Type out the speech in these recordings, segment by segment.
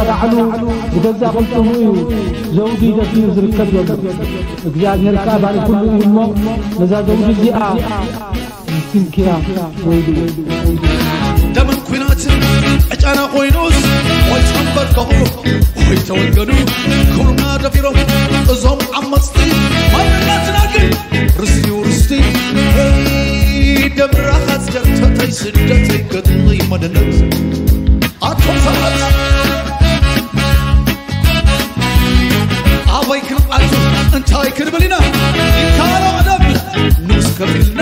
ባዕሉ ብገዛእ ቅልጽሙ እዩ ዘውዲ ደፊኡ ዝርከብ ዘሎ። እግዚኣብሔር ከኣ ባሪኹሉ እዩ እሞ፣ ነዛ ዘውዲ እዚኣ ምስኪንኪያ ወይሉ። ደምን ኲናትን ዕጫና ኮይኑስ፣ ወይ ተንበርከኹ ወይ ተወገዱ። ክብርና ደፊሮም እዞም ዓመፅቲ ማንነትና ግን ርስቲ ርስቲ። ሄይ ደም ራኻት ደርተተይ ስደተይ ገድለይ መደነት ኣቶም ሰባት ኣበይ ክንኣቱ እንታይ ክንብል ኢና? ይካሎ ቀደም ንስ ከፊልና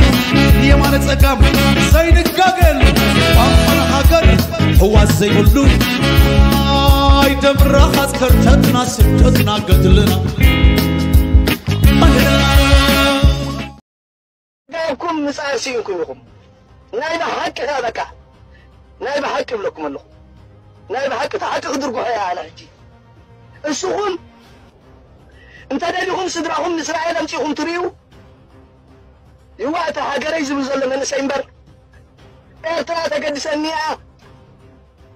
የማነ ጸጋም ዘይንጋገል ቋንቋና ሃገር ህዋስ ዘይብሉ ኣይ ደም ራኻት ከርተትና ስደትና ገድልና ዳብኩም ምጽኣር ስኢንኩም ኢኹም። ናይ ብሓቂ ከኣ በቃ ናይ ብሓቂ እብለኩም ኣለኹ። ናይ ብሓቂ እቲ ሓቂ ክድርግሖ እየ ኣነ ሕጂ። እስኹም እንተ ደሊኹም ስድራኹም ንእስራኤል ኣምጺኹም ትርእዩ ይዋ እቲ ሃገረይ ዝብል ዘሎ መንእሰይ እምበር ኤርትራ ተገድሰኒ እያ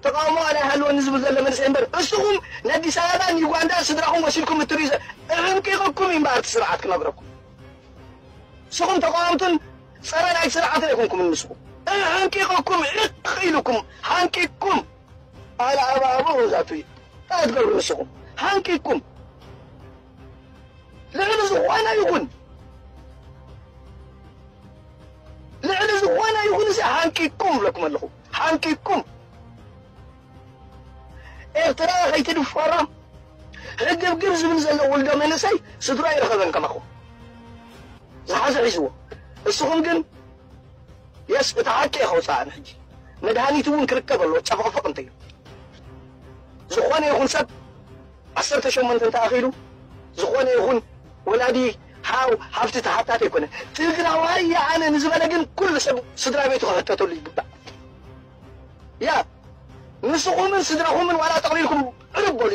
ተቃውሞ ኣላ ይሃልወኒ ዝብል ዘሎ መንእሰይ እምበር እስኹም ንኣዲስ ኣበባን ዩጋንዳን ስድራኹም ወሲድኩም እትርእዩ ዘ- እዕንቂቕኩም እዩ እምበኣር እቲ ስርዓት ክነግረኩም። ንስኹም ተቃወምትን ጸረ ናይ ስርዓትን ኣይኮንኩምን። ንስኹም ሓንቂቕኩም ዕቕ ኢልኩም ሓንቂቕኩም ኣለ ኣባቡ ዛቱ እዩ። እንታይ ትገብሩ ንስኹም ሓንቂቕኩም ልዕሊ ዝኾነ ይኹን ልዕሊ ዝኾነ ይኹን እዚ ሓንቂቕኩም እብለኩም ኣለኹ። ሓንቂቕኩም ኤርትራ ከይትድፈራ ሕግብግብ ዝብል ዘሎ ውልዶ መንእሰይ ስድራ ይረኸበን ከማኹም ዝሓዘ ሒዝዎ። እስኹም ግን የስ እቲ ሓቂ እየ ከውፅእ ኣነ ሕጂ መድሃኒት እውን ክርከብ ኣለዎ። ጨፈቕፈቕ እንተዩ ዝኾነ ይኹን ሰብ ዓሰርተ ሸሞንተ እንተኣኺሉ ዝኾነ ይኹን ወላዲ ሓው ሃፍቲ ተሓታቲ ኣይኮነ። ትግራዋይ እየ ኣነ ንዝበለ ግን ኩሉ ሰብ ስድራ ቤቱ ክሕተተሉ ይግባእ። ያ ንስኹምን ስድራኹምን ዋላ ጠቕሊልኩም ዕርብ በሉ።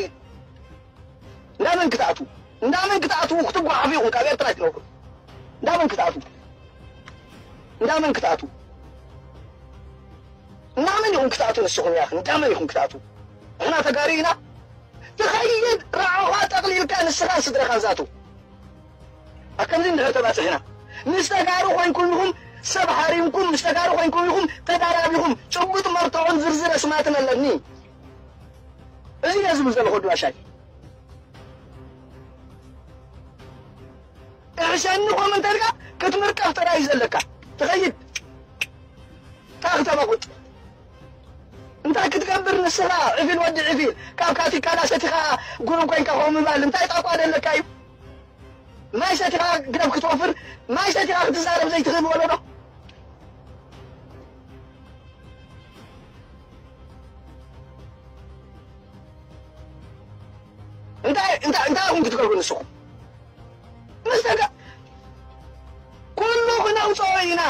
እንዳመን ክትኣትዉ እንዳመን ክትኣትዉ ክትጓሓፉ ኢኹም ካብ ኤርትራ ኣይትነብሩ። እንዳመን ክትኣትዉ እንዳመን ክትኣትዉ እንዳመን ኢኹም ክትኣትዉ ንስኹም ያኽ እንዳመን ኢኹም ክትኣትዉ ንሕና ተጋሩ ኢና ትኸይድ ራዕኻ ጠቕሊልካ ንስኻን ስድራኻን ዛቱ ኣከምዚ እንድሕር ተባፅሕና ምስ ተጋሩ ኮይንኩም ኢኹም ሰብ ሃሪምኩም ምስ ተጋሩ ኮይንኩም ኢኹም ተዳራቢኹም ጭቡጥ መርትዖን ዝርዝር ኣስማትን ኣለኒ እዚ እየ ዝብል ዘለኹ ድባሻይ እሕሸኒ ኮመንተርካ ክትምርቀፍ ጥራይ እዩ ዘለካ ትኸይድ ታ ክተመቁጥ እንታይ ክትገብር ንስኻ ዕፊል ወዲ ዕፊል ካብ ካቲካላ ሰቲኻ ጉሩብ ኮይንካ ከምኡ ምባል እንታይ ጣቋ ደለካ እዩ ማይ ሰቲኻ ግደፍ ክትወፍር ማይ ሰቲኻ ክትዛረብ ዘይትኽእል ወለዶ እንታይ እንታይ እንታይ ኢኹም ክትገብሩ ንስኹም ምስ ደገ ኩሉ ክነውፅኦ ኢና።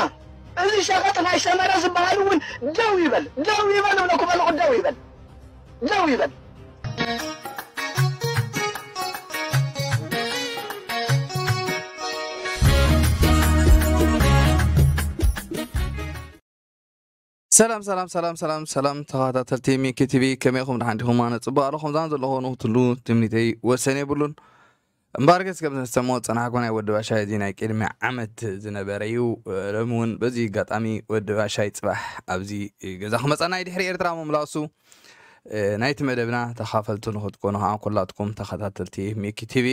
እዚ ሸቐጥ ናይ ሰመረ ዝበሃል እውን ደው ይበል፣ ደው ይበል እብለኩም ኣለኹ፣ ደው ይበል፣ ደው ይበል። ሰላም ሰላም ሰላም ሰላም ሰላም ተኸታተልቲ ሚኪ ቲቪ ከመይ ኢኹም ደሓን ዲኹም ኣነ ፅቡቅ ኣለኹም ዛን ዘለኹ ንክትሉ ትምኒተይ ወሰን የብሉን እምበኣር ገስ ከም ዝተሰምዖ ፀናሕኮ ናይ ወዲ ባሻይ እዚ ናይ ቅድሚ ዓመት ዝነበረ እዩ ሎሚ እውን በዚ ኣጋጣሚ ወዲ ባሻይ ፅባሕ ኣብዚ ገዛ ክመፀና እዩ ድሕሪ ኤርትራ ምምላሱ ናይቲ መደብና ተኻፈልቱ ንክትኮኑ ከዓ ኩላትኩም ተኸታተልቲ ሚኪ ቲቪ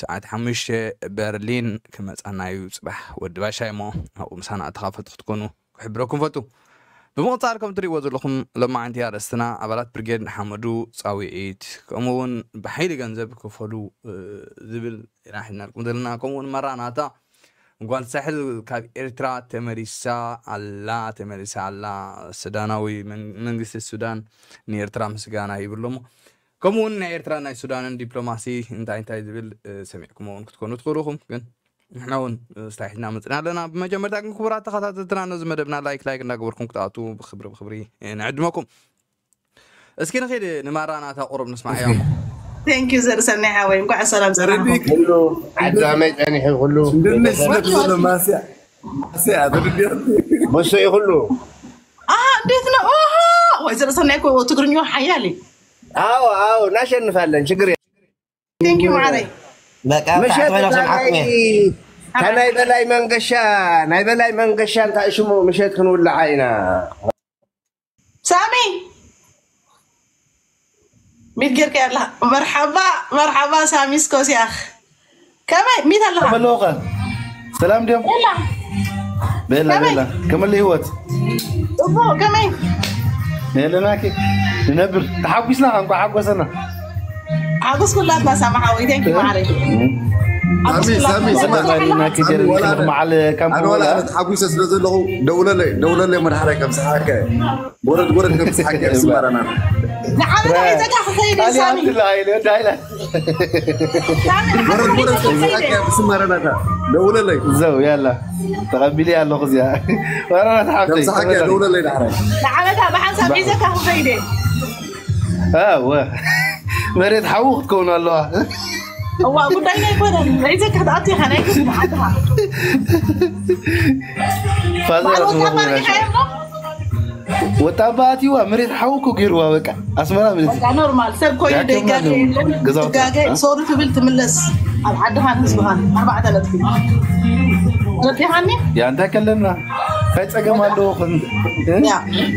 ሰዓት ሓሙሽተ በርሊን ክመፀና እዩ ፅባሕ ወዲ ባሻይ እሞ ኣብኡ ምሳና ተኻፈልቲ ክትኮኑ ክሕብረኩም ፈቱ ብምቕፃል ከም ትሪእዎ ዘለኹም ሎማዓንቲ ኣርእስትና ኣባላት ብርጌድ ንሓመዱ ፃውዒት ከምኡ እውን ብሓይሊ ገንዘብ ክፈሉ ዝብል ኢና ሒዝናልኩም ዘለና ከምኡ እውን መራናታ ጓል ሳሕል ካብ ኤርትራ ተመሊሳ ኣላ ተመሊሳ ኣላ ሱዳናዊ መንግስቲ ሱዳን ንኤርትራ ምስጋና ይብሎ እሞ ከምኡ እውን ናይ ኤርትራ ናይ ሱዳንን ዲፕሎማሲ እንታይ እንታይ ዝብል ሰሚዕኩሞ እውን ክትኮኑ ትኽእሉ ኢኹም ግን ንሕና እውን ስታይ ሒዝና መፅና ኣለና ብመጀመርታ ግን ክቡራት ተኸታተልትና ነዚ መደብና ላይክ ላይክ እንዳገበርኩም ክትኣቱ ብክብሪ ብክብሪ ንዕድመኩም እስኪ ንኺድ ንማራናታ ቁሩብ ንስማዕ እዮም Thank you ዘርሰናይ ሓወይ እንኳዕ ሰላም ፀናሕኩም ኩሉ ዓዲ ከመይ ፀኒሑ ኩሉ ድንሽ ስለዘሎ ማስያ ማስያ ትድልዮ መሶ እዩ ኩሉ እንዴት ነው ወይ ዘርሰናይ እኮ ትግርኛ ሓያል እዩ ኣዎ ኣዎ፣ እናሸንፋለን፣ ችግር የለም። Thank you ማዕረይ። በቃ ምሸት ታዕት ኮይኖም ሰምሓኩም እየ። ናይ በላይ መንገሻ፣ ናይ በላይ መንገሻ እንታይ ሽሙ፣ ምሸት ክንውልዓ ኢና። ሳሚ ሚት ጌርካ ያላ። መርሓባ መርሓባ ሳሚ ስኮስያኽ። ከመይ ሚት ኣለኻ? ከመለውኸ ሰላም ድዮም? የላ ቤላ ከመይ? ቤላ ከመለ ህይወት ጽቡቕ። ከመይ? የለናኪ ንነብር ተሓጒስና እንኳ ሓጎሰና። ሓጎስ ኩላትና ሳሚ ሓወይ። Thank you ማዕረይ። ሳሚ ሳሚ ስማ ወላዲና ክጀር ወላ መዓል ካም ኣነ ወላ ኣነ ተሓጒሰ ስለ ዘለኹ ደውለለይ ደውለለይ መድሓራይ ከም ሰሓከ ወረድ ወረድ ከም ሰሓከ ስማራና ንዓመት ሒዘካ ክኸይድ እየ ሳሚ። ዳይላ ሳሚ ወረድ ወረድ ከም ሰሓከ ስማራና ደውለለይ ዘው ያላ ተቐቢለ ኣለኹ እዚኣ ወረራት ከም ሓብተይ ሰሓከ ደውለለይ ዳሕራይ ንዓመታ ብሓንሳብ ሒዘካ ክኸይድ እየ። ኣወ መሬት ሓዉ ክትከውን ኣለዋ። እዋ ጉዳይና ኣይኮነን። ሒዘካ ክትኣቱ ኢኻ ናይ ክፍሊ ዓድኻ። ፋዘር በዓል ወጣ ኣስመራ ማሪኻ የብሎ። ወጣ ባኣትዋ መሬት ሓዉ እኮ ገይርዋ በቃ ኣስመራ መሬት በቃ ኖርማል ሰብ ኮይኑ ያከብና ደይጋገ ነው። የለን። ገዛውቲ። ትጋገ ሶሪ ትብል ትምለስ ኣብ ዓድኻን ህዝብኻን ኣርባዕተ ነጥቢ ረዲኻኒ። ያ እንታይ ከለና እንታይ ጸገም ኣለዎ? ከም ያ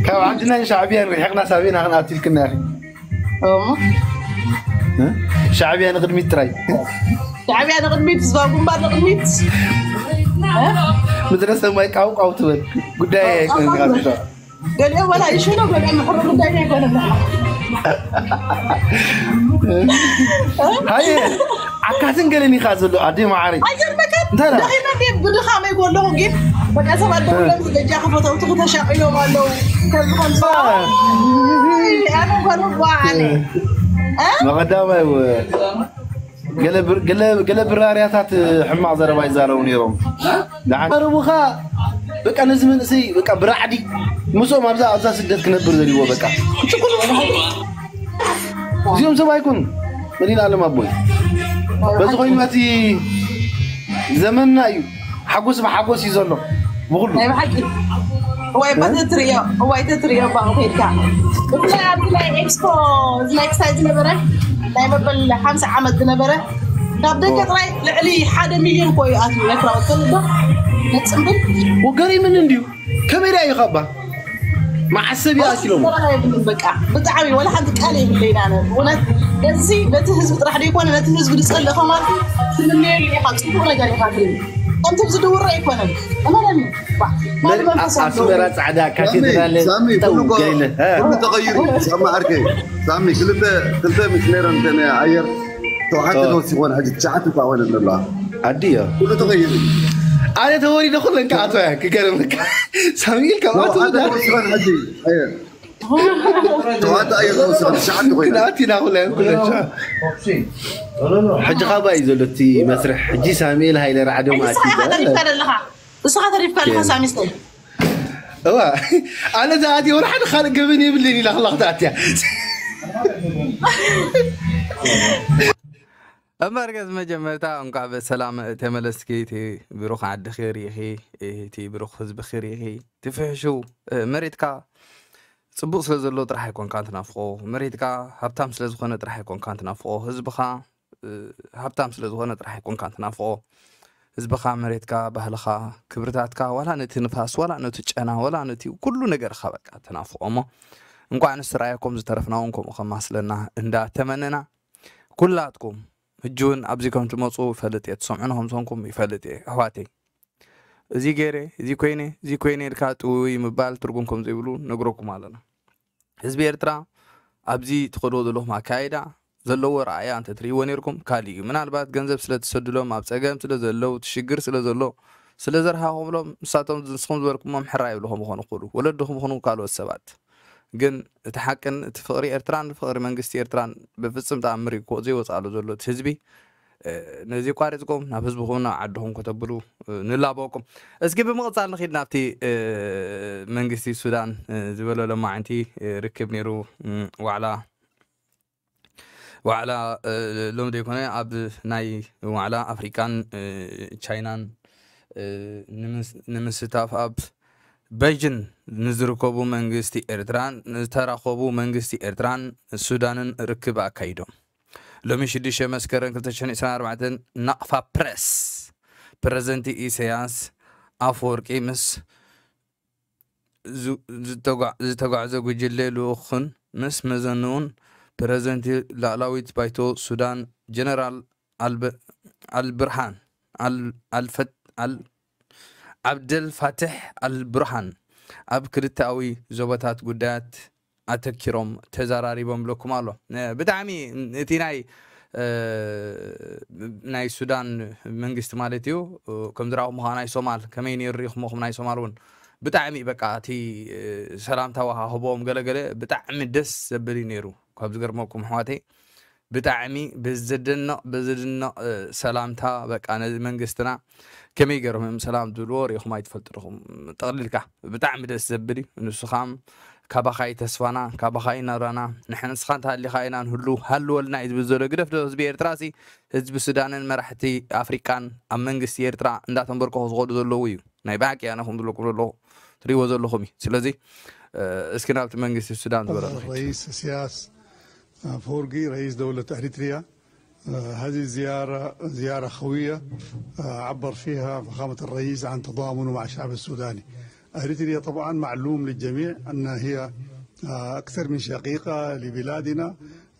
ካብ ዓድና ሻዕብያን ርሒቕና ሳቤና ክንኣትልክና ያኺ እሞ ሻዕብያ ንቕድሚት ጥራይ ሻዕብያ ንቕድሚት ህዝባዊ ግንባር ንቕድሚት። ምድረ ሰማይ ቃውቃው ትበል ጉዳይ ኣይኮነን። ገሊኦም ወላ ይሽኑ ገሊኦም ምሕሩ ጉዳይ ኣይኮነን። ሃየ ዓካትን ገለን ኢኻ ዘሎ ኣደ ማዓረይ ኣይገርመከን እንታይ ደኣ? ደኺመ እንዴ ብድኻመይ ጎለኹ ግን በቃ ሰባት ደውሎም ዝገጃ ክፈተውቲ ክተሻቂሎም ኣለዉ። ከምዚ ከምዚ ኣነ ጎኑ ዋዓነ መቐዳማይ ገለ ብር- ገለ- ገለ ብራርያታት ሕማቕ ዘረባ ይዛረቡ ነይሮም። ደሓን ዘረቡኻ በቃ ነዚ መንእሰይ በቃ ብራዕዲ ምስኦም ኣብዛ ኣብዛ ስደት ክነብር ዘልዎ በቃ ክጭቁኑ እዚኦም ሰብ ኣይኮኑ መዲና ኣለም ኣቦይ በዚ ኮይኑ እቲ ዘመንና እዩ። ሓጎስ ብሓጎስ እዩ ዘሎ ብኩሉ። ናይ ብሓቂ እዋይ እባ ተትርእዮ እዋይ ተትርእዮ እባ ከይድካ ብፍላይ ኣብዚ ናይ ኤክስፖ እዚ ናይ ክሳይ ዝነበረ ናይ መበል ሓምሳ ዓመት ዝነበረ ካብ ደገ ጥራይ ልዕሊ ሓደ ሚልዮን ኮ እዩ ኣትዩ ኤርትራዊ ትፈልጥ ዶ? ነጽምብል ወገሪምን እንድዩ ከመይ ዳ እዩ ካባ መዓሰብ ይኣኪሎም በቃ ብጣዕሚ ወላ ሓንቲ ቃል የብለይና እውነት ነዚ ነቲ ህዝቢ ጥራሕ ዘይኮነ ነቲ ህዝቢ ዝጸልእ ከማልኩ ትምነየሉ ኢኻ ጽቡቕ ነገር ኢኻ ትርኢ ከምቲ ዝድውሮ ኣይኮነን እመነኒ ኣስመራ ጻዕዳ ካቴድራል ሳሚ ጠው ኩሉ እኮ- ገይለ ኩሉ ተቐይሩ ሳሚ ዓርከይ ሳሚ ክልተ ክልተ ሚሽነር እንተ ኣየር ተውሓተ ተወሲኾን ሕጂ ትሽዓተ እኳ ኾነ ኣለዋ ኣዲዮ ኩሉ ተቐይሩ ኣነ ተወሪደ ኩለን ከኣቶ እያ ክገርመካ ሳሚኤል ካብ ኣቶ ተውሓተ ተወሲኾን ሕጂ ኣየር ተውሓተ ኣየር ተወሲኾን ትሽዓተ ኮይና ክነኣት ኢና ኩለን ኩለን ሕጂ ካባ እዩ ዘሎ እቲ መስርሕ ሕጂ ሳሙኤል ሃይለ ራዕዶ ማእቲ ተሪፍካ ኣለኻ ንስኻ ተሪፍካ ኣለኻ ሳሚስተይ እዋ ኣነ ዝኣትየ ወላ ሓደ ካልእ ገበን የብለይን ኢላ ከላ ክትኣትያ እምበር ገዝ መጀመርታ እንኳዕ በሰላም ተመለስኪ እቲ ብሩኽ ዓድኺ ርኢኺ እቲ ብሩኽ ህዝብኺ ርኢኺ ትፍሕሹ መሬትካ ጽቡቕ ስለ ዘሎ ጥራሕ ኣይኮንካን ትናፍቆ መሬትካ ሃብታም ስለ ዝኾነ ጥራሕ ኣይኮንካን ትናፍቆ ህዝብኻ ሃብታም ስለ ዝኾነ ጥራሕ ኣይኮንካን ትናፍቆ ህዝብኻ መሬትካ ባህልኻ ክብርታትካ ዋላ ነቲ ንፋስ ዋላ ነቲ ጨና ዋላ ነቲ ኩሉ ነገርካ በቃ ትናፍቆ እሞ እንኳዕ ንስራየኩም ዝተረፍናውን ከምኡ ከማስለና እንዳተመነና ኩላትኩም ሕጂ እውን ኣብዚ ከም ትመፁ ይፈልጥ እየ ትሰምዑኒ ከም ዝኾንኩም ይፈልጥ እየ ኣሕዋተይ እዚ ገይረ እዚ ኮይነ እዚ ኮይነ ኢልካ ጥውይ ምባል ትርጉም ከም ዘይብሉ ነግረኩም ኣለና ህዝቢ ኤርትራ ኣብዚ ትኸድዎ ዘለኹም ኣካይዳ ዘለዎ ረኣያ እንተትርእይዎ ነርኩም ካልእ እዩ ምናልባት ገንዘብ ስለ ትሰድሎም ኣብ ፀገም ስለ ዘለዉ ትሽግር ስለ ዘሎ ስለ ዘርሃኹምሎም ንሳቶም ንስኹም ዝበልኩሞም ሕራ ይብልኹም ይኾኑ ክኽእሉ ወለድኹም ይኹኑ ካልኦት ሰባት ግን እቲ ሓቅን እቲ ፍቕሪ ኤርትራን ፍቕሪ መንግስቲ ኤርትራን ብፍጽም ተኣምር እዩ ዘይወፅኣሉ ዘሎ እቲ ህዝቢ ነዚ ቋሪፅኩም ናብ ህዝብኹም ናብ ዓድኹም ከተብሉ ንላበወኩም እስኪ ብምቕፃል ንኺድ ናብቲ መንግስቲ ሱዳን ዝበሎ ለማዓንቲ ርክብ ነይሩ ዋዕላ ዋዕላ ሎም ዘይኮነ ኣብ ናይ ዋዕላ ኣፍሪቃን ቻይናን ንምስታፍ ኣብ በይጅን ንዝርከቡ መንግስቲ ኤርትራን ዝተራኸቡ መንግስቲ ኤርትራን ሱዳንን ርክብ ኣካይዶም። ሎሚ ሽዱሽተ መስከረም ክልተ ሽሕን ዕስራን ኣርባዕተን ናቕፋ ፕረስ፣ ፕረዚደንት ኢሳያስ ኣፈወርቂ ምስ ዝ-፣ ዝተጓ-፣ ዝተጓዕዘ ጉጅለ ልኡኽን ምስ መዘንኡን፣ ፕረዚደንት ላዕላዊት ባይቶ ሱዳን ጀነራል ኣልበ-፣ ኣልብርሃን ኣል-፣ ኣልፈት-፣ ኣል-፣ ዓብደልፋትሕ ኣልብርሃን ኣብ ክልተኣዊ ዞባታት ጉዳያት ኣተኪሮም ተዘራሪቦም ብለኩም ኣሎ። እ፣ ብጣዕሚ እቲ ናይ፣ እ፣ ናይ ሱዳን መንግስቲ ማለት እዩ፣ እ፣ ከም ዝረኣኹም ከኣ ናይ ሶማል ከመይ ነይሩ ርኢኹሞ? ከም ናይ ሶማል እውን ብጣዕሚ በቃ እቲ፣ እ፣ ሰላምታ ወሃህቦም ገለገለ ብጣዕሚ ደስ ዘብል እዩ ነይሩ። ካብ ዝገርመኩም ኣሕዋተይ ብጣዕሚ ብዝድነቕ፣ ብዝድነቕ፣ እ፣ ሰላምታ በቃ ነዚ መንግስትና ከመይ ገይሮም እዮም ሰላም ዝብልዎ ርኢኹም ኣይትፈልጡ ዲኹም? ጠቕሊልካ ብጣዕሚ ደስ ዘብል እዩ። ንሱ ኸኣ ካባኻ እዩ ተስፋና፣ ካባኻ እዩ ናብራና፣ ንሕና ንስኻ እንተሃሊኻ ኢና ንህሉ፣ ሃልወልና እዩ ዝብል ዘሎ። ግደፍ ዶ ህዝቢ ኤርትራ ሲ፣ ህዝቢ ሱዳንን መራሕቲ ኣፍሪቃን ኣብ መንግስቲ ኤርትራ እንዳተንበርከኹ ዝኸዱ ዘለዉ እዩ። ናይ ብሓቂ ኣነ ከም ዝብለኩም ዘለኹ ትሪእዎ ዘለኹም እዩ። ስለዚ፣ እ፣ እስኪ ናብቲ መንግስቲ ሱዳን ዝበሎ ንኺድ። الرئيس السياس فورقي رئيس دولة أريتريا. آه، هذه الزيارة زيارة خوية، آه، عبر فيها فخامة الرئيس عن تضامنه مع الشعب السوداني. أريتريا طبعًا معلوم للجميع أنها هي، آه، أكثر من شقيقة لبلادنا،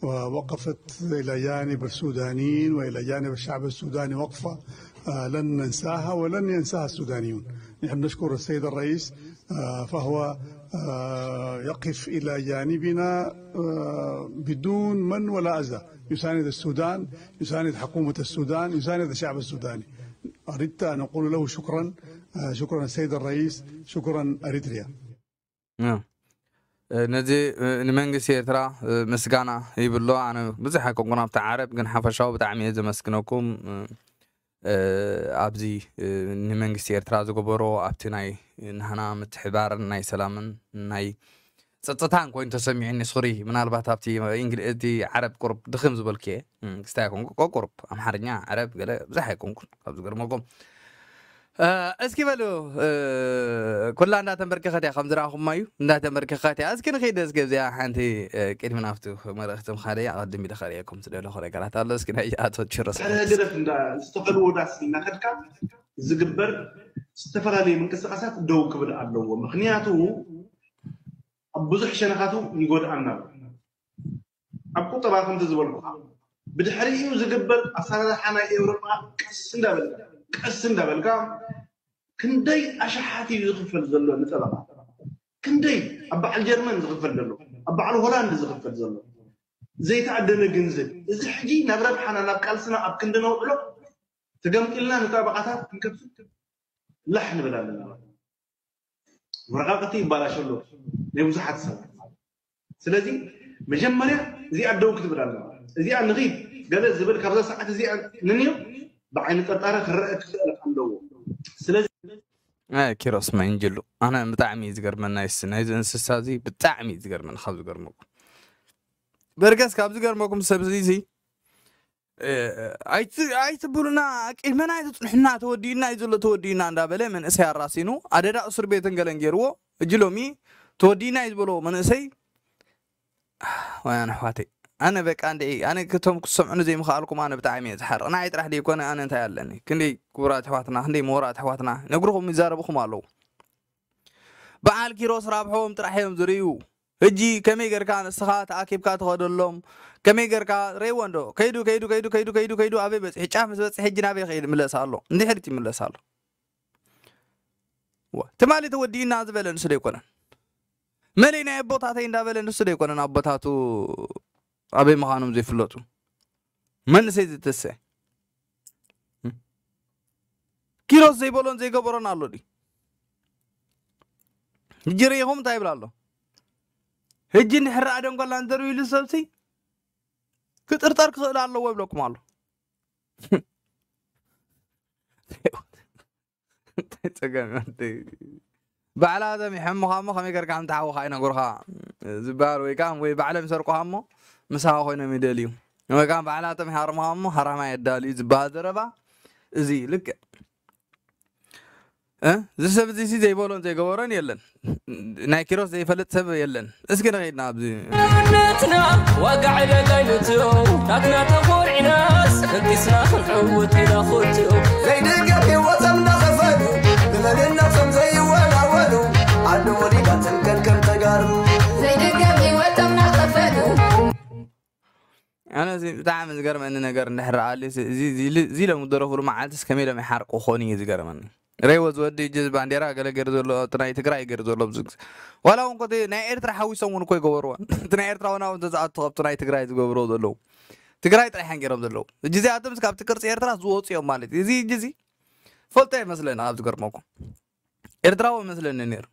ووقفت إلى جانب السودانيين وإلى جانب الشعب السوداني وقفة، آه، لن ننساها ولن ينساها السودانيون. نحن نشكر السيد الرئيس، آه، فهو، آه، يقف إلى جانبنا، آه، بدون من ولا أذى. يساند السودان، يساند حكومة السودان، يساند الشعب السوداني. أردت أن أقول له شكرًا، آه، شكرًا السيد الرئيس، شكرًا أريتريا. እ፣ ነዚ፣ እ፣ ንመንግስቲ ኤርትራ፣ እ፣ ምስጋና ይብሎ። ኣነ ብዙሕ ኣይኮንኩን ኣብቲ ዓረብ፣ ግን ሓፈሻዊ ብጣዕሚ እየ ዘመስግነኩም። እ፣ እ፣ ኣብዚ፣ እ፣ ንመንግስቲ ኤርትራ ዝገበሮ ኣብቲ ናይ ናህና ምትሕባርን ናይ ሰላምን ናይ ጸጥታን ኮይኑ ተሰሚዑኒ። ሶሪ፣ ምናልባት ኣብቲ እንግሊ-፣ እቲ ዓረብ ቁሩብ ድኽም ዝበልኩ እየ። እ፣ ክስታይ ኣይኮንኩ፣ ቁሩብ ኣምሓርኛ፣ ዓረብ ገለ ብዙሕ ኣይኮንኩን፣ ካብ ዝገርመኩም። እ፣ እስኪ በሉ፣ እ፣ ኩላ እንዳተንበርከኸት እያ፣ ከም ዝረኣኹማ እዩ፣ እንዳተንበርከኸት እያ። እስኪ ንኸይድ፣ እስኪ ኣብዚኣ ሓንቲ፣ እ፣ ቅድሚ ናብቲ መልእኽቲ ምኻደይ ኣቐድም ኢለ ከርእየኩም ዝደለኹ ነገራት ኣሎ። እስኪ ናይ ኣቶ ኪሮስ ድሕሪ ህግደፍ እንዳ ዝተፈልዎ ዳስ እናኸድካ ዝግበር ዝተፈላለዩ ምንቅስቃሳት ደው ክብል ኣለዎ። ምኽንያቱ ኣብ ብዙሕ ሸነኻቱ ይጎድኣና ኣሎ። ኣብ ቁጠባ ከምቲ ዝበልኩኻ ብድሕሪኡ ዝግበር ኣሰራርሓ ናይ ኤውሮጳ ቀስ እንዳበልካ፣ ቀስ እንዳበልካ ክንደይ ኣሽሓት እዩ ዝኽፈል ዘሎ ንጠበቓ? ክንደይ ኣብ በዓል ጀርመን ዝኽፈል ዘሎ፣ ኣብ በዓል ሆላንድ ዝኽፈል ዘሎ ዘይተኣደነ ገንዘብ። እዚ ሕጂ ናብ ረብሓና፣ ናብ ቃልስና ኣብ ክንዲ ነውዕሎ ተገምጢልና ንጠበቓታት ክንከፍል ላሕ ንብል ኣለና። ወረቓቕቲ ይባላሽ ኣሎ ናይ ብዙሓት ሰባት። ስለዚ መጀመርያ እዚኣ ደው ክትብል ኣለዋ። እዚኣ ንኺድ ገለ ዝብል ካብዛ ሰዓት እዚኣ ንንዮ ብዓይኒ ጠርጣረ ክረአ ክኽእል ኣለዎ። ስለዚ ኣይ፣ ኪሮስ ማይንጅሉ፣ ኣነ ብጣዕሚ እዩ ዝገርመኒ ናይስ-፣ ናይዚ እንስሳ እዚ ብጣዕሚ እዩ ዝገርመኒ። ካብ ዝገርመኩም፣ በርገስ፣ ካብ ዝገርመኩም ሰብ እዚ፣ እዚ፣ እ፣ ኣይት-፣ ኣይትብሉና፣ ቅድመና ኣይትጽንሑና፣ ተወዲኡና እዩ ዘሎ፣ ተወዲኡና እንዳበለ መንእሰይ ኣራሲኑ፣ ኣደዳ እስር ቤትን ገለን ገይርዎ። እጂ ሎሚ ተወዲኡና እዩ ዝበሎ መንእሰይ፣ ወያን ኣሕዋተይ፣ ኣነ በቃ እንደ፣ ኣነ ክቶም ክሰምዑኒ ዘይምኽኣልኩም ኣነ ብጣዕሚ እየ ዝሓርቕ። ንዓይ ጥራሕ ደይኮነ፣ ኣነ እንታይ ኣለኒ? ክንደይ ክቡራት ኣሕዋትና፣ ክንደይ ምሁራት ኣሕዋትና ነግርኹም ይዛረብኹም ኣለዉ። በዓል ኪሮስ ራብሖም ጥራሕ እዮም ዝርእዩ። ሕጂ ከመይ ጌርካ ንስኻ ተኣኪብካ ትኸደሎም? ከመይ ጌርካ ረይዎ እንዶ? ከይዱ፣ ከይዱ፣ ከይዱ፣ ከይዱ፣ ከይዱ፣ ከይዱ ኣበይ በጺሑ? ጫፍ ምስ በጽሐ ሕጂ ናበይ ከይድ ይምለስ ኣሎ? እንድሕሪት ይምለስ ኣሎ? ዋ፣ ትማሊ ተወዲእና ዝበለ ንሱ ዶ ኣይኮነን? መለይ ናይ ኣቦታተይ እንዳበለ ንሱ ዶ ኣይኮነን ኣቦታቱ ኣበይ ምዃኖም ዘይፍለጡ? መንእሰይ ዝተሰ ኪሮስ ዘይበሎን ዘይገበሮን ኣሎ ድዩ? ሕጂ ርኢኹም እንታይ ይብል ኣሎ? ሕጂ እንድሕር ደንጎላ እንተርእዩ ኢሉ ሰብሲ ክጥርጠር ክኽእል ኣለዎ ይብለኩም ኣሎ። እንታይ ጸገም እዩ? ባዕላቶም ይሕምኻ እሞ ከመይ ጌርካ ከም ትሓውኻ ይነግሩኻ ዝበሃል ወይ ከዓ ወይ ባዕሎም ይሰርቁኻ እሞ ምሳኻ ኮይኖም ይደልዩ ወይ ከዓ ባዕላቶም ይሃርሙኻ እሞ ሃራማ የዳልዩ ዝበሃል ዘረባ እዚ እዩ። ልክዕ እ? እዚ ሰብ እዚ ሲ ዘይበሎን ዘይገበሮን የለን። ናይ ኪሮስ ዘይፈልጥ ሰብ የለን። እስኪ ንኸይድና ኣብዚ ነትና ዋጋ ዕደጋይ ንትዮ ናትና ተኾርዒናስ ከንቲስና ክንዕውት ኢና ኹትዮ ዘይደገፍ ህይወቶም እናኸፈሉ ብመንነቶም ዘይወላወሉ ኣሉ ወሊዳትን ከንከም ተጋሩ ዘይደገፍ ህይወቶም እናኸፈሉ ኣነ እዚ ብጣዕሚ ዝገርመኒ ነገር እንድሕር ደኣ ኣልዩ፣ እዚ፣ እዚ፣ እዚ ሎሚ ዝደረፉሉ መዓልትስ ከመይ ኢሎም ይሓርቁ ክኾኑ እዩ ዝገርመኒ። ረይዎ ዝወዲ እጅ ባንዴራ ገለ ገይሩ ዘሎ፣ እቲ ናይ ትግራይ ገይሩ ዘሎ ብዙ ግዜ። ዋላ እውን ኮቲ ናይ ኤርትራ ሓዊሶም እውን እኮ ይገበርዎ። እቲ ናይ ኤርትራ እውን ኣብኡ እንተዝኣቱ ካብቲ ናይ ትግራይ ዝገብርዎ ዘለዉ። ትግራይ ጥራሕ እዮም ገይሮም ዘለዉ። እጅ እዚኣቶምስ ካብቲ ቅርፂ ኤርትራ ዝወፁ እዮም ማለት እዩ። እዚ እጅ እዚ ፈልጦ ይመስለኒ ካብ ዝገርመኩም። ኤርትራዊ ይመስለኒ ነይሩ።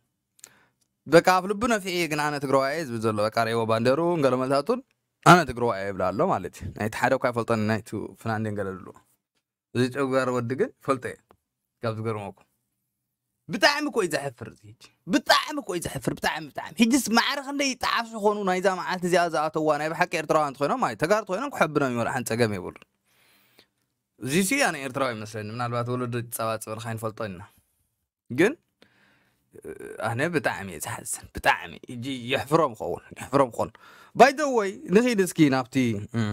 በቃ ኣፍ ልቡ ነፊዒ ግን ኣነ ትግራዋይ እየ ዝብል ዘሎ። በቃ ረይዎ ባንዴሩ ገለ መልታቱን ኣነ ትግራዋይ እየ ይብል ኣሎ ማለት እዩ። ናይቲ ሓደ እኳ ይፈልጠኒ ናይቲ ፍናንዴን ገለ ዝብልዎ። እዚ ጨጓር ወዲ ግን ፈልጦ እየ። ካብ ዝገርመኩም። ብጣዕሚ እኮ እዩ ዘሕፍር እዚ ሕጂ። ብጣዕሚ እኮ እዩ ዘሕፍር። ብጣዕሚ፣ ብጣዕሚ። ሕጂስ ማዕረ ክንደይ ይጠዓሱ ይኾኑ ናይዛ መዓልቲ እዚኣ ዝኣተዋ ናይ ብሓቂ ኤርትራውያን እንተኾይኖም፣ ኣይ፣ ተጋሩ እንተኾይኖም ክሕብኖም እዩ፣ ወላ ሓንቲ ጸገም የብሉን። እዚ ሲ ኣነ ኤርትራዊ ይመስለኒ። ምናልባት ወለዶ ይጸባጸበልካ ይንፈልጦ ኢና። ግን ኣነ ብጣዕሚ እየ ዝሓዝን። ብጣዕሚ። ሕጂ የሕፍሮም ክኸውን። የሕፍሮም ክኾን። By the way፣ ንኺድ እስኪ ናብቲ፣ እም፣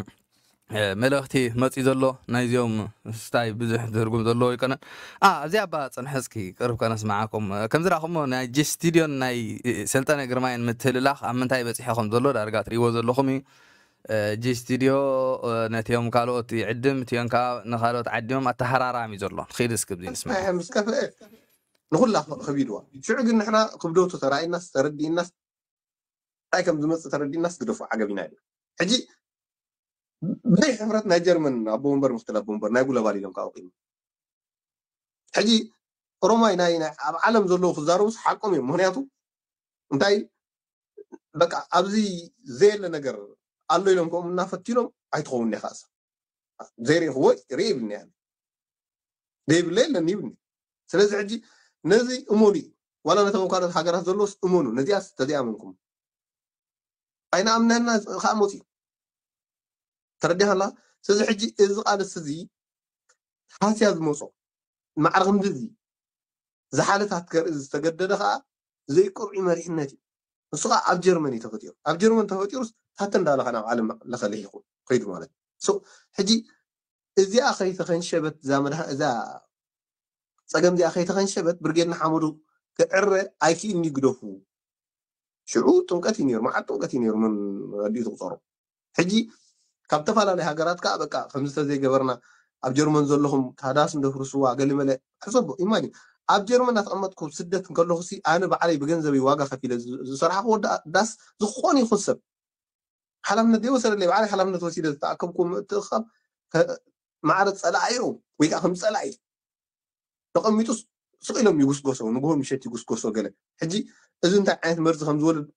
እ፣ መልእኽቲ መጺኡ ዘሎ ናይዚኦም ስታይ ብዙሕ ትርጉም ዘለዎ ኣይኮነን። ኣ፣ ኣብዚ ኣባ ጽንሐ እስኪ ቅርብ ከነስምዓኩም። እ፣ ከም ዝረኣኹሞ ናይ ጂ ስቱድዮን ናይ፣ እ፣ ሰልጠነ ግርማይን ምትህልላኽ ኣብ ምንታይ በጺሑ ከም ዘሎ ዳርጋ ትርእይዎ ዘለኹም እዩ። እ፣ ጂ ስቱድዮ፣ እ፣ ነቲኦም ካልኦት ይዕድም፣ እቲኦም ከኣ ንኻልኦት ዓዲሞም ኣተሃራራሚ እዩ ዘሎ። ኺድ እስኪ ብዚ ንስምዓ። ኣይ፣ ምስ ከፍአ ንኹላ ከ-፣ ከቢድዋ። ሽዑ ግን ንሕና ክብደቱ ተራኢናስ ተረዲእናስ እንታይ ከም ዝመጽእ ተረዲእናስ ግደፎ ዓገብ ኢና ኢሉ። ሕጂ ብዘይ ሕፍረት ናይ ጀርመን ኣቦ ወንበር ምክትል ኣቦ ወንበር ናይ ጉለባል ኢሎም ካብ ኣቑሙ። ሕጂ ኦሮማይ ናይ፣ ናይ ኣብ ዓለም ዘለዉ ክዛረቡስ ሓቆም እዮም። ምኽንያቱ እንታይ በቃ ኣብዚ ዘየለ ነገር ኣሎ ኢሎም ከምኡ እናፈትኖም ኣይትኸውን ኢኻ። ዘይርኢኽዎ ርኢ ይብልኒ ኣነ። ዘይብለ የለን ይብልኒ። ስለዚ ሕጂ ነዚ እመኑ እዩ። ዋላ ነቶም ኣብ ካልኦት ሃገራት ዘለዎስ እመኑ። ነዚኣስ ተዘይኣመንኩም ኣይንኣምነና ከዓ መፅኡ። ተረዲኻላ? ስለዚ ሕጂ እዚ ቃልሲ እዚ ሃስያ ዝመፆ ማዕረ ክንዲ እዚ ዝሓለታት ከርኢ ዝተገደደ ከዓ ዘይቅርዑ መሪሕነት እዩ። ንሱ ከዓ ኣብ ጀርመን እዩ ተፈጢሩ። ኣብ ጀርመን ተፈጢሩስ ታተ እንዳበለ ከዓ ናብ ዓለም ለኸ ልሒኹ ከይዱ ማለት እዩ። So፣ ሕጂ እዚኣ ከይተኸንሸበት፣ እዛ መድሃ-፣ እዛ ፀገም እዚኣ ከይተኸንሸበት ብርጌድ ንሓመዱ ክዕረ ኣይክእልኒ ግደፉ። ሽዑ ጥምቀት እዩ ነይሩ፣ መዓት ጥምቀት እዩ ነይሩ፣ መን ኣዲኡ ትቑፀሮ። ሕጂ ካብ ዝተፈላለዩ ሃገራት ከዓ በቃ ከምዚ ተዘይገበርና ኣብ ጀርመን ዘለኹም ታዳስ እንደፍርስዋ ገሊመለ ሕሰቦ። ኢማጂን ኣብ ጀርመን እናተቐመጥኩ ስደት እንከለኹ ሲ ኣነ ባዕለይ ብገንዘበይ ዋጋ ከፊለ ዝ-፣ ዝሰራሕኹ ወዲ ዳስ ዝኾነ ይኹን ሰብ ሓላፍነት ዘይወሰደለይ ባዕለይ ሓላፍነት ወሲደ ዝተኣከብኩ ምእትእኻብ ከ-፣ ማዕረ ፀላኢኦም ወይ ከዓ ከም ፀላኢ ተቐሚጡ ስቕ ኢሎም ይጉስጎሶ፣ ንግሆ ምሸት ይጉስጎሶ ገለ። ሕጂ እዚ እንታይ ዓይነት መርዚ ከም ዝወልድ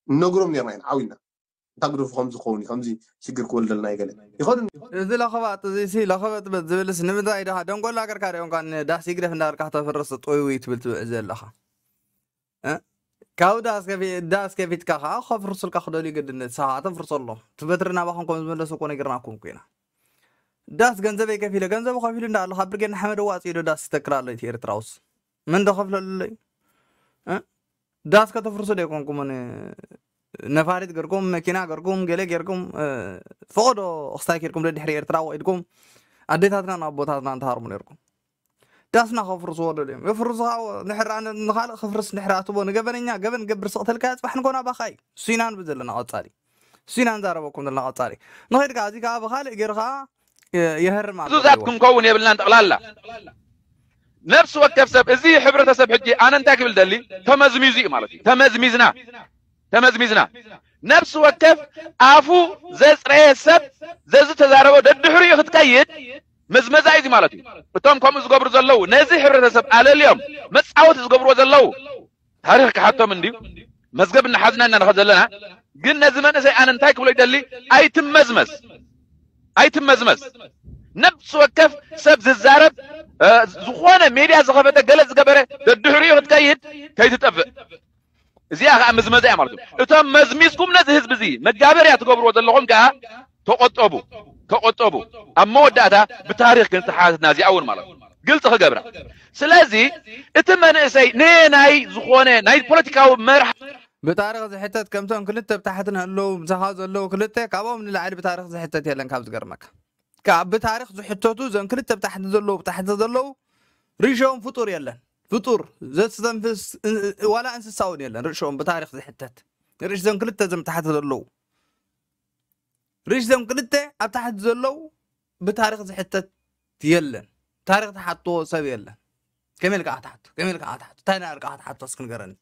ንነግሮም ነርና ኢና ዓው ኢልና። እንታ ግደፉ ከምዚ ክኸውን እዩ፣ ከምዚ ሽግር ክወልደልና እዩ ገለ። ይኸዱ። እዚ ለኸባጥ እዚ ሲ ለኸበጥበጥ ዝብልስ ንምንታይ ድኻ ደንጎላ ገርካ ዶ እንኳን ዳስ ይግደፍ እንዳበልካ ከተፍርስ ጥውይ ትብል ትውዕ ዘለኻ? እ? ካብ ዳስ ከፊ-፣ ዳስ ከፊትካ ከዓ ከፍርሱልካ ክደልዩ ግድነት ሰኻ ተፍርሰሎም። እቲ በትሪ ናባኹም ከም ዝመለሱ እኮ ነጊርናኩም እኮ ኢና። ዳስ ገንዘበይ ከፊለ፣ ገንዘቡ ከፊሉ እንዳ ኣሎ ካብ ብርጌድ ንሓመድ ኣዋፂኡ ዶ ዳስ ይተክል ኣሎ እቲ ኤርትራውስ? መን ዶ ከፍለሉ ኣሎ እዩ? እ? ዳስ ከተፍርሱ ዶ ኣይኮንኩምን? ነፋሪት ገርኩም፣ መኪና ገርኩም፣ ገለ ገርኩም፣ እ፣ ፈቐዶ ክስታይ ኬድኩም ደድሕሪ ኤርትራ ወቂድኩም ኣዴታትናን ኣቦታትናን ትሃርሙ ነርኩም። ዳስና ከፍርስዎ ደልዮም። የፍርሱ ከዓ ንሕራ ን-፣ ንኻልእ ክፍርስ ንሕራ ትቦ ንገበነኛ ገበን ገብር ስቕተልካ ጽባሕ ንኮና ባኻይ። እሱ ኢና ንብል ዘለና ቀጻሊ። እሱ ኢና ንዛረበኩም ዘለና ቀጻሊ። ንኸይድ ከዓ እዚ ከዓ ብኻልእ ገይሩ ከዓ የ-፣ የህርም ኣሎ። ዕዙዛት ክንከውን የብልናን ጠቕላላ። ነፍሲ ወከፍ ሰብ፣ እዚ ሕብረተሰብ ሕጂ ኣነ እንታይ ክብል ደሊ? ተመዝሚዙ እዩ ማለት እዩ። ተመዝሚዝና። ተመዝሚዝና። ነፍሲ ወከፍ ኣፉ ዘጽረየ ሰብ ዘዝተዛረቦ ደድሕሪኡ ክትከይድ ምዝመዛ እዩ ማለት እዩ። እቶም ከምኡ ዝገብሩ ዘለዉ ነዚ ሕብረተሰብ ኣለልዮም መጻወቲ ዝገብርዎ ዘለዉ ታሪኽ ክሓቶም እንድዩ። መዝገብ እናሓዝና ኢና ንኸድ ዘለና። ግን ነዚ መንእሰይ ኣነ እንታይ ክብሎ ይደሊ? ኣይትመዝመዝ። ኣይትመዝመዝ። ነፍሲ ወከፍ ሰብ ዝዛረብ፣ እ፣ ዝኾነ ሜድያ ዝኸፈተ ገለ ዝገበረ ደድሕሪኡ ክትከይድ ከይትጠፍእ። እዚኣ ኸዓ ምዝመዛ እያ ማለት እዩ። እቶም መዝሚዝኩም ነዚ ህዝቢ እዚ መጋበርያ ትገብርዎ ዘለኹም ከኣ ተቖጠቡ፣ ተቖጠቡ። ኣብ መወዳእታ ብታሪኽ ክንተሓታትና እዚኣ እውን ማለት እዩ። ግልፂ ክገብራ። ስለዚ እቲ መንእሰይ ንናይ ዝኾነ ናይ ፖለቲካዊ መርሃ ብታሪኽ ዝሕተት ከምቶም ክልተ ብታሕቲ ንህለዉ ምሳኻ ዘለዉ ክልተ ካብኦም ንላዕሊ ብታሪኽ ዝሕተት የለን። ካብ ዝገርመካ ካብ ብታሪኽ ዝሕተቱ ዘን ክልተ ብታሕቲ ዘለዉ ብታሕቲ ዘለዉ ርሾም ፍጡር የለን። ፍጡር ዘስተንፍስ ዋላ እንስሳ እውን የለን። ርሾም ብታሪኽ ዝሕተት ርሽ ዘን ክልተ ዘም ታሕቲ ዘለዉ ርሽ ዘም ክልተ ኣብ ታሕቲ ዘለዉ ብታሪኽ ዝሕተት የለን። ታሪኽ ተሓትዎ ሰብ የለን። ከመይ ኢልካ ክትሓቶ ከመይ ኢልካ ክትሓቶ እንታይ ዳ ኢልካ ክትሓቶ እስኪ ንገረኒ።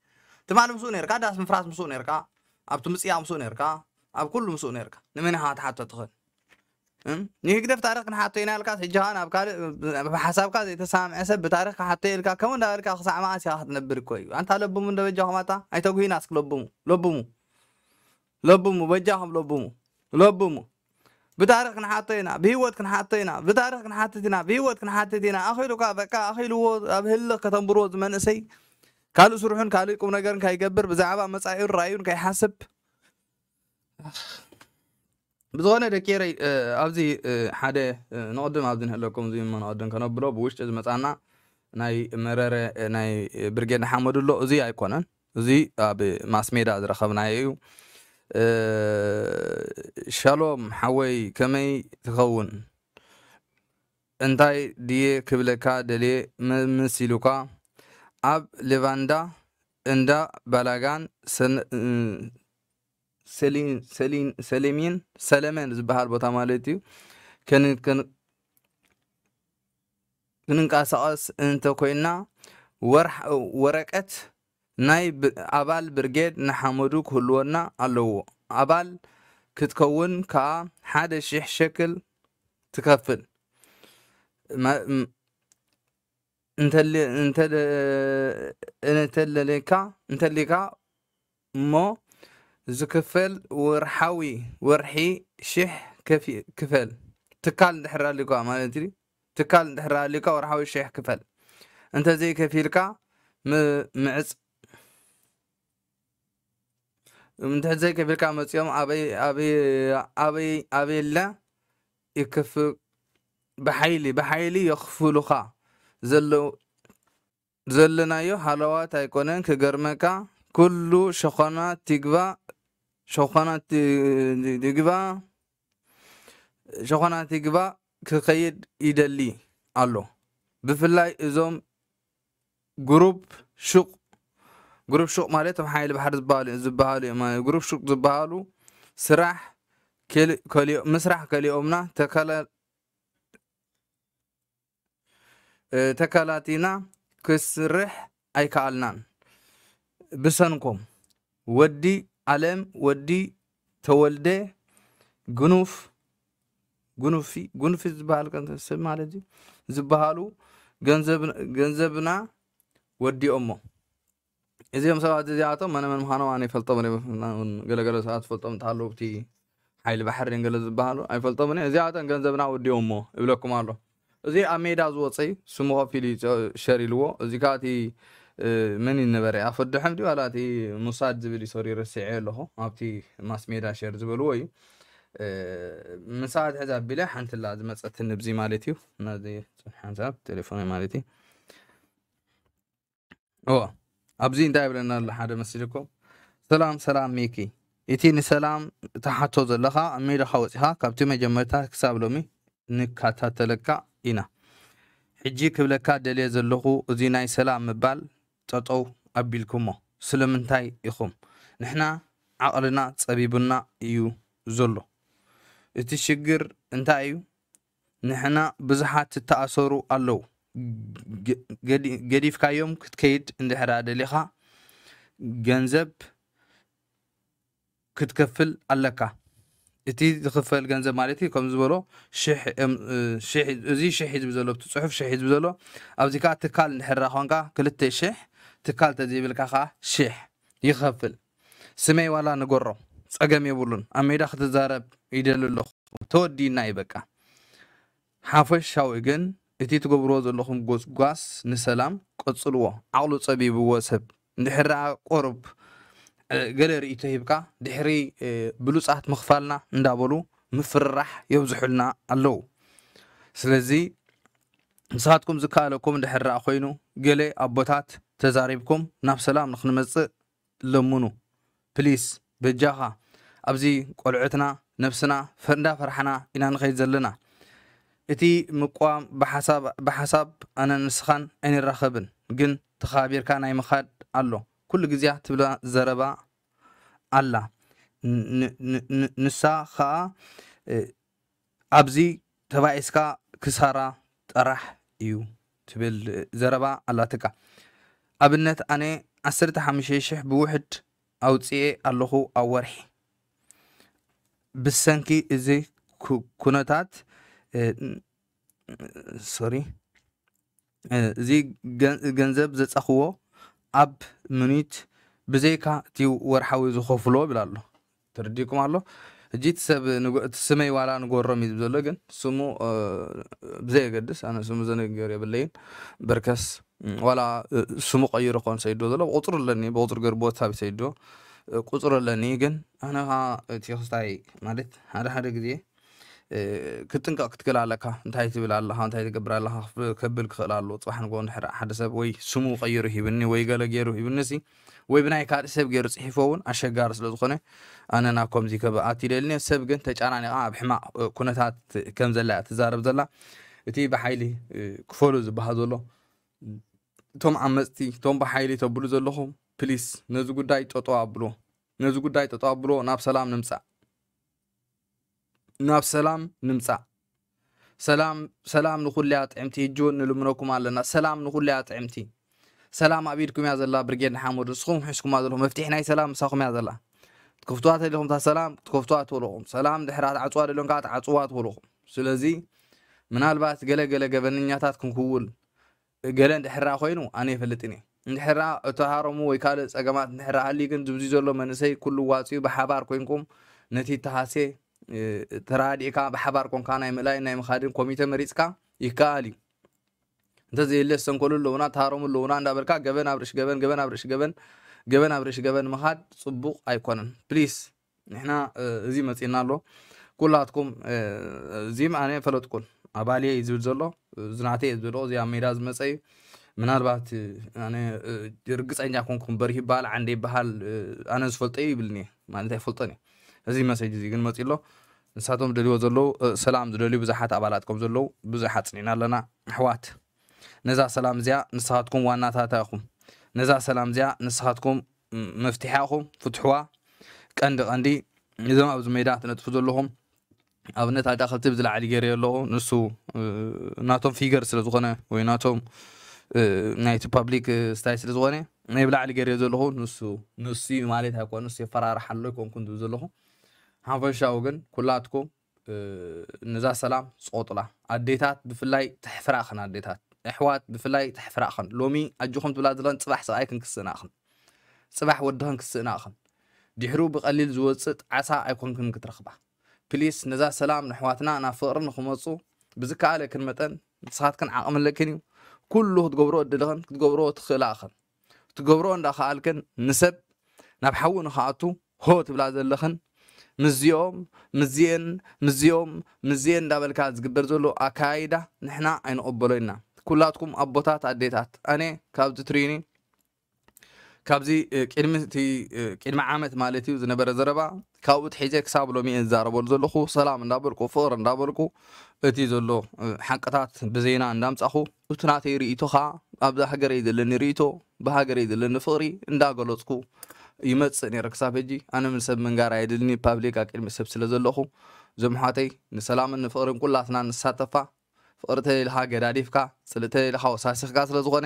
ትማሊ ምስኡ ነርካ ዳስ ምፍራስ ምስኡ ነርካ ኣብቲ ምፅያ ምስኡ ነርካ ኣብ ኩሉ ምስኡ ነርካ ንመን ኢኻ ክትሓቶ ትኽእል? እም? ንህግደፍ ታሪኽ ክንሓቶ ኢና ኢልካ ሕጂ ኸኣ ናብ ካልእ ብሓሳብካ ዘይተሰማምዐ ሰብ ብታሪኽ ክሓቶ ኢልካ ከምኡ እንዳበልካ ክሳዕ መዓስ ኢኻ ክትነብር እኮ እዩ። ኣንታ ለብሙ እንዶ በጃኹም ኣታ ኣይተጉሂና እስኪ ለብሙ ለብሙ ለብሙ በጃኹም ለብሙ ለብሙ ብታሪኽ ክንሓቶ ኢና ብህይወት ክንሓቶ ኢና ብታሪኽ ክንሓትት ኢና ብህይወት ክንሓትት ኢና ኣኺሉካ በቃ ኣኺልዎ ኣብ ህልኽ ከተንብርዎ ዝመንእሰይ ካልእ ስርሑን ካልእ ቁም ነገርን ከይገብር ብዛዕባ መጻኢኡን ራእዩን ከይሓስብ ብዝኾነ ደቂ ኤረይ ኣብዚ ሓደ ንቕድም ኣብዚ ንህለኩም እዚ እሞ ንቕድም ከነብሎ ብውሽጢ ዝመጻና ናይ መረረ ናይ ብርጌድ ንሓመዱ ኣሎ እዚ ኣይኮነን እዚ ኣብ ማስሜዳ ዝረኸብናዮ እዩ ሻሎም ሓወይ ከመይ ትኸውን እንታይ ድየ ክብለካ ደልየ መምስ ኢሉካ ኣብ ሌቫንዳ እንዳ ባላጋን ሰለሚን ሰለሜን ዝበሃል ቦታ ማለት እዩ ክንንቀሳቐስ እንተኮይንና ወረቀት ናይ ኣባል ብርጌድ ንሓመዱ ክህልወና ኣለዎ። ኣባል ክትከውን ከኣ ሓደ ሽሕ ሸክል ትከፍል። እንተለካ እንተሊካ እሞ ዝክፈል ወርሓዊ ወርሒ ሽሕ ክፈል ትካል እንድሕር ኣሊካ ማለት እዩ ትካል እንድሕር ኣሊካ ወርሓዊ ሽሕ ክፈል እንተዘይ ከፊልካ ምዕፅ እንድሕር ዘይከፊልካ መፂኦም ኣበይ ኣበይ ኣበይ ኣበይ ኣበይለ ይክፍ ብሓይሊ ብሓይሊ የኽፍሉኻ ዘለዉ ዘለናዮ ሃለዋት ኣይኮነን ክገርመካ ኩሉ ሸኾና ትግባ ሸኾና ትግባ ሸኾና ትግባ ክኸይድ ይደሊ ኣሎ ብፍላይ እዞም ግሩፕ ሹቕ ግሩፕ ሹቕ ማለት እቶም ሓይሊ ባሕሪ ዝበሃሉ ዝበሃሉ እዮም ማለት ግሩፕ ሹቕ ዝበሃሉ ስራሕ ምስራሕ ከሊኦምና ተከላ ተከላቲና ክስርሕ ኣይከኣልናን ብሰንኮም ወዲ ኣለም ወዲ ተወልደ ጉኑፍ ጉኑፊ ጉኑፊ ዝበሃል ሰብ ማለት እዩ ዝበሃሉ ገንዘብና ወዲኦሞ እዚኦም ሰባት እዚኣቶም መነመን ምዃኖም ኣነ ይፈልጦም ገለገለ ሰባት ትፈልጦም እንተሃለዉ እቲ ሓይሊ ባሕሪ ገለ ዝበሃሉ ኣይፈልጦምን እዚኣቶም ገንዘብና ወዲኦሞ ይብለኩም ኣሎ እዚ ኣብ ሜዳ ዝወፀ እዩ ስሙ ከፊሉ ሸር ኢልዎ እዚ ከዓ እቲ መን ይነበረ ኣፈድሖም ድዩ ዋላ እቲ ሙሳድ ዝብል ይሰሩ ረስዐ ኣለኹ ኣብቲ ማስ ሜዳ ሸር ዝበልዎ እዩ ምሳት ሕዚ ኣቢለ ሓንቲ ላ ዝመፀትኒ ብዚ ማለት እዩ ነዚ ሓንሳብ ቴሌፎን ማለት እዩ እዎ ኣብዚ እንታይ ይብለና ኣሎ ሓደ መሲልኩም ሰላም ሰላም ሚኪ እቲ ንሰላም ተሓቶ ዘለኻ ኣብ ሜዳኻ ወፂኻ ካብቲ መጀመርታ ክሳብ ሎሚ ንከታተለካ ኢና ሕጂ ክብለካ ደልየ ዘለኹ እዚ ናይ ሰላም ምባል ጠጠው ኣቢልኩሞ ስለምንታይ ኢኹም ንሕና ዓቕልና ፀቢቡና እዩ ዘሎ እቲ ሽግር እንታይ እዩ ንሕና ብዙሓት ትተኣሰሩ ኣለዉ ገዲፍካዮም ክትከይድ እንድሕራ ደሊኻ ገንዘብ ክትከፍል ኣለካ እቲ ዝኽፈል ገንዘብ ማለት እዩ ከም ዝበሎ እዚ ሽሕ ዝብ ዘሎ እቲ ፅሑፍ ሽሕ ዝብ ዘሎ ኣብዚ ከዓ ትካል እንድሕራ ኮንካ ክልተ ሽሕ ትካል ተዘይብልካ ከዓ ሽሕ ይኸፍል ስመይ ዋላ ንገሮ ፀገም የብሉን ኣብ ሜዳ ክትዛረብ ይደሊ ኣለኹ ተወዲና እዩ በቃ ሓፈሻዊ ግን እቲ ትገብርዎ ዘለኹም ጎስጓስ ንሰላም ቀፅልዎ ዓቕሉ ፀቢብዎ ሰብ እንድሕር ደኣ ቁሩብ ገለ ርእይቶ ሂብካ ድሕሪ ብሉፃት ምኽፋልና እንዳበሉ ምፍርራሕ የብዝሑልና ኣለዉ ስለዚ ንስኻትኩም ዝከኣለኩም ድሕር ደኣ ኮይኑ፣ ገለ ኣቦታት ተዛሪብኩም ናብ ሰላም ንኽንመጽእ ለምኑ። ፕሊስ፣ በጃኻ። ኣብዚ ቆልዑትና፣ ነብስና፣ ፈ-፣ እንዳፈራሕና ኢና ንኸይድ ዘለና። እቲ ምቋም ብሓሳብ፣ ብሓሳብ ኣነ ንስኻን ኣይንራኸብን፣ ግን ተኻቢርካ ናይ ምኻድ ኣሎ። ኩሉ ግዜያ ትብላ ዘረባ ኣላ። ን-፣ ን-፣ ን-፣ ንሳ ኸኣ፣ እ፣ ኣብዚ ተባኢስካ ክሳራ ጥራሕ እዩ ትብል ዘረባ ኣላትካ። ኣብነት ኣነ ዓሰርተ ሓሙሽተ ሽሕ ብውሕድ ኣውጽኤ ኣለኹ ኣብ ወርሒ። ብሰንኪ እዚ ኩ-፣ ኩነታት፣ እ፣ ን-፣ ሶሪ፣ እ፣ እዚ ገን-፣ ገንዘብ ዘጻኽዎ ኣብ ምኒት ብዘይካ እቲ ወርሓዊ ዝኸፍሎ ይብል ኣሎ። ተረዲእኩም ኣሎ? ሕጂ እቲ ሰብ ንጎ-፣ እቲ ስመይ ዋላ ንጎሮም እዩ ዝብል ዘሎ፣ ግን ስሙ፣ እ፣ ብዘየገድስ፣ ኣነ ስሙ ዘነገር የብለይን። በርከስ፣ ም፣ ዋላ፣ እ፣ ስሙ ቀይሩ ኮን ሰይዶ ዘሎ፣ ቁጽሩ ኣለኒ፣ ብቁጽሩ ገይሩ ቦታ ሰይዶ፣ እ፣ ቁጽሩ ኣለኒ። ግን ኣነ ኸኣ እቲ ክስታይ ማለት ሓደ ሓደ ግዜ፣ እ፣ ክትጥንቀቕ ክትክእል ኣለካ። እንታይ ትብል ኣለኻ፣ እንታይ ትገብር ኣለኻ ክፍ-፣ ከብል ክኽእል ኣሎ። ጽባሕ ንግሆ እንድሕር ሓደ ሰብ ወይ ስሙ ቀይሩ ሂብኒ ወይ ገለ ገይሩ ሂብኒ ሲ፣ ወይ ብናይ ካልእ ሰብ ገይሩ ጽሒፎ እውን ኣሸጋሪ ስለ ዝኾነ፣ ኣነ ናብ ከምዚ ከብኣት ኢለ ኢልኒ። ሰብ ግን ተጨናኒቓ ኣብ ሕማቕ፣ እ፣ ኩነታት ከም ዘላ እያ ትዛረብ ዘላ። እቲ ብሓይሊ፣ እ፣ ክፈሉ ዝበሃል ዘሎ፣ እቶም ዓመጽቲ፣ እቶም ብሓይሊ ተብሉ ዘለኹም፣ ፕሊስ፣ ነዚ ጉዳይ ጠጠው ኣብሎ። ነዚ ጉዳይ ጠጠው ኣብሎ፣ ናብ ሰላም ንምጻእ። ናብ ሰላም ንምጻእ። ሰላም፣ ሰላም ንኹለያ ጥዕምቲ። ህጂ እውን ንልምነኩም ኣለና። ሰላም ንኹለያ ጥዕምቲ። ሰላም ኣብ ኢድኩም እያ ዘላ፣ ብርጌድ ንሓመዱ። ንስኹም ሒዝኩማ ዘለኹም መፍትሒ ናይ ሰላም ምሳኹም እያ ዘላ። ትከፍትዋ ተደሊኹም እታ ሰላም፣ ክትከፍትዋ ትኽእሉ ኢኹም። ሰላም ድሕሪ ትዓጽዋ ደልዮም ከኣ ትዓጽዋ ትኽእሉ ኢኹም። ስለዚ ምናልባት ገለ ገለ ገበነኛታት ክንክውን ገለ እንድሕር ደኣ ኮይኑ ኣነ ኣይፈልጥን እየ። እንድሕር ደኣ እተሃረሙ ወይ ካልእ ጸገማት እንድሕር ደኣ ሃልዩ ግን፣ ዝብዚ ዘሎ መንእሰይ ኩሉ ዋጽኡ ብሓባር ኮይንኩም ነቲ እተሃስየ፣ እ፣ ተራዲእካ ብሓባር ኮንካ ናይ ምእላይን ናይ ምኻድን ኮሚተ መሪጽካ ይከኣል እዩ። እንተዘየለ፣ ዝሰንከሉ ኣለዉና፣ ተሃረሙ ኣለዉና እንዳበልካ ገበን ኣብ ርእሲ ገበን፣ ገበን ኣብ ርእሲ ገበን፣ ገበን ኣብ ርእሲ ገበን ምኻድ ጽቡቕ ኣይኮነን። ፕሊስ፣ ንሕና፣ እ፣ እዚ መጺእና ኣሎ። ኩላትኩም፣ እ፣ እዚም ኣነ ፈለጥኩን፣ ኣባልየ እዩ ዝብል ዘሎ፣ እዚ ናተይ እዩ ዝብል፣ እዚ ኣብ ሜዳ ዝመጸ እዩ። ምናልባት፣ እ፣ ኣነ፣ እ፣ ርግጸኛ ኮንኩም በሪህ ይበሃል፣ ዓንደ ይበሃል፣ እ፣ ኣነ ዝፈልጦ እዩ ይብልኒ እየ፣ ማለት ኣይፈልጦን እየ። እዚ መሰጅ እዚ ግን መጺኡ ኣሎ። ንሳቶም ዝደልይዎ ዘለዉ፣ እ፣ ሰላም ዝደልዩ ብዙሓት ኣባላት ከም ዘለዉ ብዙሕ ኣጽኒዕና ኣለና። ኣሕዋት፣ ነዛ ሰላም እዚኣ ንስኻትኩም ዋናታታ ኢኹም። ነዛ ሰላም እዚኣ ንስኻትኩም፣ ም-፣ መፍትሒያ ኢኹም፣ ፍትሕዋ። ቀንዲ ቀንዲ እዞም ኣብዚ ሜዳ ትነጥፉ ዘለኹም፣ ኣብነት ኣዳኸልቲ ብዝለዓሊ ገይረ ኣለኹ። ንሱ፣ እ፣ ናቶም ፊገር ስለ ዝኾነ ወይ ናቶም፣ እ፣ ናይቲ ፓብሊክ፣ እ፣ ስታይ ስለ ዝኾነ ናይ ብላዕሊ ገይረ ዘለኹ። ንሱ፣ ንሱ እዩ ማለት ኣይኮነ፣ ንሱ የፈራርሕ ኣሎ ኣይኮንኩን ዝብል ዘለኹ። ሓፈሻዊ ግን ኩላትኩም፣ እ፣ ነዛ ሰላም ጽቆጡላ። ኣዴታት ብፍላይ ተሕፍራኽን፣ ኣዴታት ኣሕዋት ብፍላይ ተሕፍራኽን። ሎሚ ኣጆኹም ትብላ ዘለኽን ጽባሕ ሰብኣይ ክንክስእናኽን። ጽባሕ ወድኽን ክስእናኽን። ድሕሩ ብቐሊል ዝወጽእ ጣዕሳ ኣይኮንክን ክትረኽባ። ፕሊስ ነዛ ሰላም ንኣሕዋትና ናብ ፍቕሪ ንኽመጹ ብዝከኣለክን መጠን ንስኻትክን ዓቕሚ ኣለክን እዩ። ኩሉ ክትገብሮ እድልኽን ክትገብሮ ትኽእላኽን። ክትገብሮ እንዳኸኣልክን ንሰብ ናብ ሓዊ ንኽኣቱ ሆ ትብላ ዘለኽን ምስዚኦም ምስዚኤን ምስዚኦም ምስዚኤን እንዳበልካ ዝግበር ዘሎ ኣካይዳ ንሕና ኣይንቕበሎ ኢና። ኩላትኩም ኣቦታት ኣዴታት፣ ኣነ ካብዚ ትሪኒ ካብዚ፣ እ፣ ቅድሚ እቲ፣ እ፣ ቅድሚ ዓመት ማለት እዩ ዝነበረ ዘረባ፣ ካብኡ ትሒዘ ክሳብ ሎሚ እየ ዝዛረበሉ ዘለኹ። ሰላም እንዳበልኩ፣ ፍቕሪ እንዳበልኩ፣ እቲ ዘሎ፣ እ፣ ሓቅታት ብዜና እንዳምጻኹ፣ እቲ ናተይ ርእይቶ ኸኣ ኣብዛ ሃገረይ ዘለኒ ርእይቶ፣ ብሃገረይ ዘለኒ ፍቕሪ እንዳገለጽኩ ይመጽእ ነይረ ክሳብ ሕጂ። ኣነ ምን ሰብ ምንጋር ኣየድልኒ፣ ፓብሊክ ኣብ ቅድሚ ሰብ ስለ ዘለኹ፣ እዞም ኣሕዋተይ ንሰላምን ንፍቕርን ኩላትና ንሳተፋ። ፍቕሪ ተሌልኻ ገዳዲፍካ፣ ጽልኢ ተሌልኻ ወሳሲኽካ ስለ ዝኾነ፣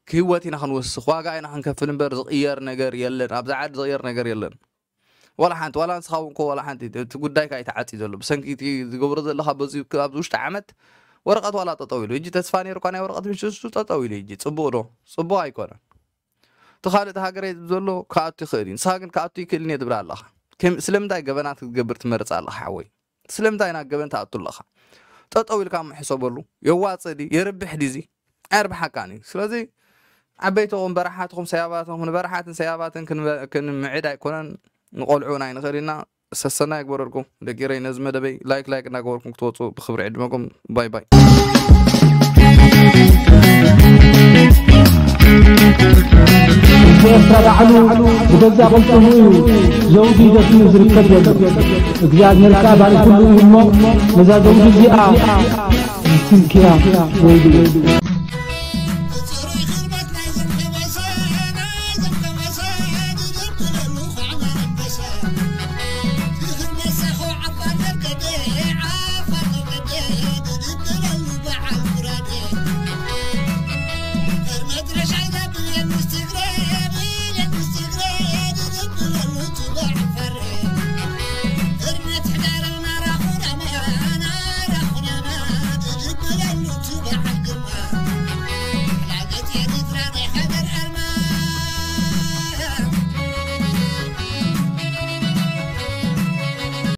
ክህይወት ኢና ክንወስኽ፣ ዋጋ ኢና ክንከፍል እምበር ዝቕየር ነገር የለን። ኣብዛ ዓዲ ዝቕየር ነገር የለን። ዋላ ሓንቲ፣ ዋላ ንስኻ እውን እኮ ዋላ ሓንቲ፣ እቲ ጉዳይካ እዩ ተዓጽዩ ዘሎ። ብሰንኪ እቲ ዝገብሮ ዘለኻ በዚ፣ ኣብዚ ውሽጢ ዓመት ወረቐት ዋላ ጠጠው ኢሉ። ሕጂ ተስፋ ነይሩካ ናይ ወረቐት ምሽ እሱ ጠጠው ኢሉ ሕጂ። ጽቡቕ ዶ? ጽቡቕ ኣይኮነን። እቲ ካልእ እቲ ሃገረይ ዘሎ ክኣቱ ይኽእል እዩ። ንስኻ ግን ክኣቱ ይክእልን እየ ትብል ኣለኻ። ከም-፣ ስለምንታይ ገበናት ክትገብር ትመርጽ ኣለኻ ሓወይ? ስለምንታይ ናብ ገበን ትኣቱ ኣለኻ? ጠጠው ኢልካ እሞ ሕሰበሉ። የዋጽእ ድዩ? የርብሕ ድዩ እዚ? ኣየርብሓካን እዩ። ስለዚ ዓበይትኹም በራሓትኹም ሰያባትኹም ንበራሓትን ሰያባትን ክንበ-፣ ክንምዕድ ኣይኮነን። ንቆልዑ ናይ ንኽእል ኢና። ሰሰና ይግበረልኩም ደቂ ኤረይ። ነዚ መደበይ ላይክ ላይክ እናገበርኩም ክትወፁ ብክብሪ ዕድመኩም። ባይ ባይ። ህዝቢ ኤርትራ ባዕሉ ብገዛእ ቅልጽሙ እዩ ዘውዲ ደፊኡ ዝርከብ ዘሎ። እግዚኣብሔር ከኣ ባሪኹሉ እዩ እሞ፣ ነዛ ዘውዲ እዚኣ ትንክያ ወይሉ።